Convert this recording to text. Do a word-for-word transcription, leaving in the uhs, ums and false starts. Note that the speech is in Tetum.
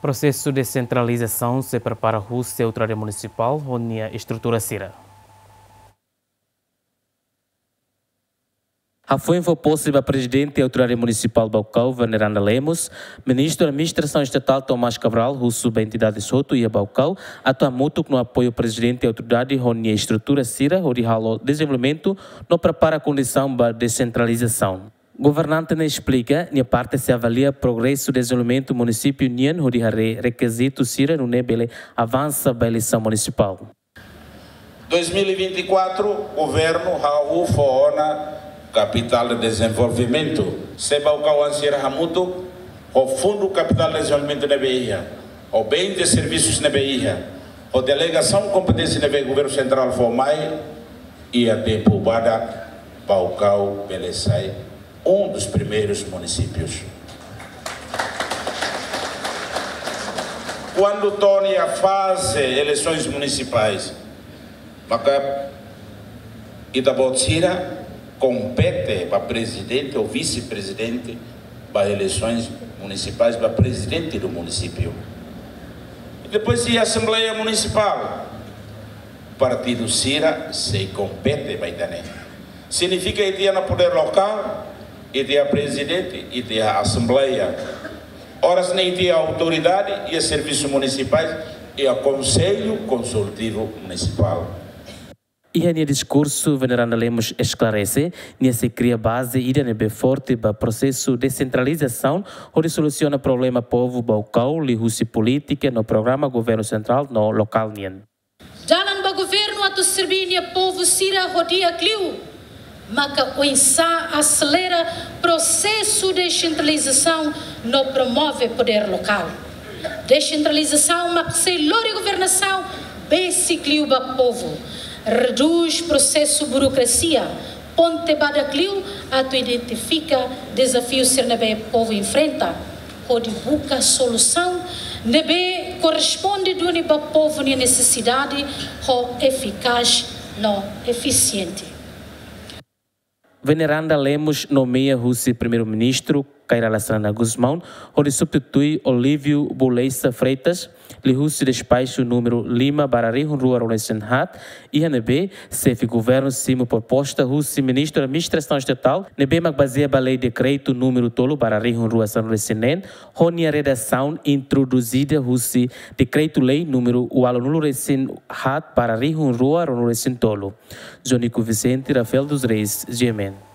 Prosesu desentralizasaun sei prepara husi Autoridade Munisipál ho nia estrutura sira. Hafoin fó pose ba Prezidente Autoridade Munisipál Baucau, Veneranda Lemos, Ministru Administrasaun Estatal Tomás Cabral husu ba entidades hotu iha Baucau atu hamutuk no apoiu Prezidente Autoridade ho nia estrutura sira hodi halo dezenvolvimentu no prepara kondisaun ba desentralizasaun. Governante ne'e esplika, nia parte sei avalia progresu dezenvolvimentu munisípiu nian hodi haree rekizitu sira nune'e bele avansa ba eleisaun munisipál. Dois mil e vinte e quatro, governu hahú fó ona kapitál de dezenvolvimentu. Se Baucauan sira hamutuk ho Fundu Kapitál de Dezenvolvimentu ne'ebé iha, ho bens de servisus ne'ebé iha, ho delegasaun kompeténsia ne'ebé governu sentrál fó mai, iha tempu badak Baucau bele sai um dos primeiros municípios. Kuandu to'o iha faze eleisoens munisipais, maka ita-boot sira kompete ba prezidente ou vise-prezidente ba eleisoens munisipais, ba prezidente do munisípiu. E depois iha Asembleia Munisipál, partidu sira sei kompete ba ita-nia. Signifika ita iha ona podér lokál, ita iha prezidente, ita iha asembleia. Oras ne'e ita iha autoridade, iha servisus munisipais, iha Konsellu Konsultivu Munisipál. Iha nia diskursu, Veneranda Lemos esklarese, nia sei kria baze ida ne'ebé forte ba prosesu desentralizasaun, hodi solusiona problema povu Baucau, liuhusi polítika no programa governu sentrál no lokál nian. Dalan ba governu atu serbí nia povu sira ho di'ak liu, maka oinsá aselera prosesu desentralizasaun no promove podér lokál. Desentralizasaun mak sei lori governasaun besik liu ba povu, redús prosesu burokrasia, ponte badak liu atu identifika dezafiu sira ne'ebé povu enfrenta, hodi buka solusaun ne'ebé korresponde duni ba povu nia nesesidade ho efikás no efisiente. Veneranda Lemos nomeia husi Primeiru-Ministru Kay Rala Xanana Gusmão hodi substitui Olívio Bouleysa Freitas, liuhusi despaxu númeru lima barra rihun rua ruanulu-resin-haat, iha ne'ebé xefe governu simu proposta husi Ministru Administrasaun Estatál, ne'ebé mak bazeia ba Lei Dekretu númeru tolu barra rihun rua sanulu-resin-neen, ho nia redasaun introduzida husi Dekretu-Lei númeru ualunulu-resin-haat barra rihun rua ruanulu-resin-tolu. Jonico Vicente, Rafael dos Reis, G M N.